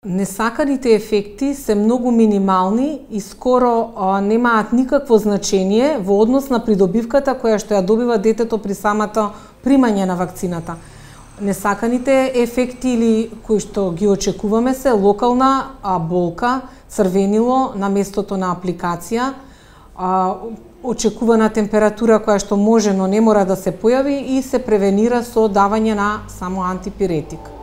Несаканите ефекти се многу минимални и скоро немаат никакво значење во однос на придобивката која што ја добива детето при самото примање на вакцината. Несаканите ефекти или кои што ги очекуваме се локална болка, црвенило на местото на апликација, очекувана температура која што може, но не мора да се појави и се превенира со давање на само антипиретик.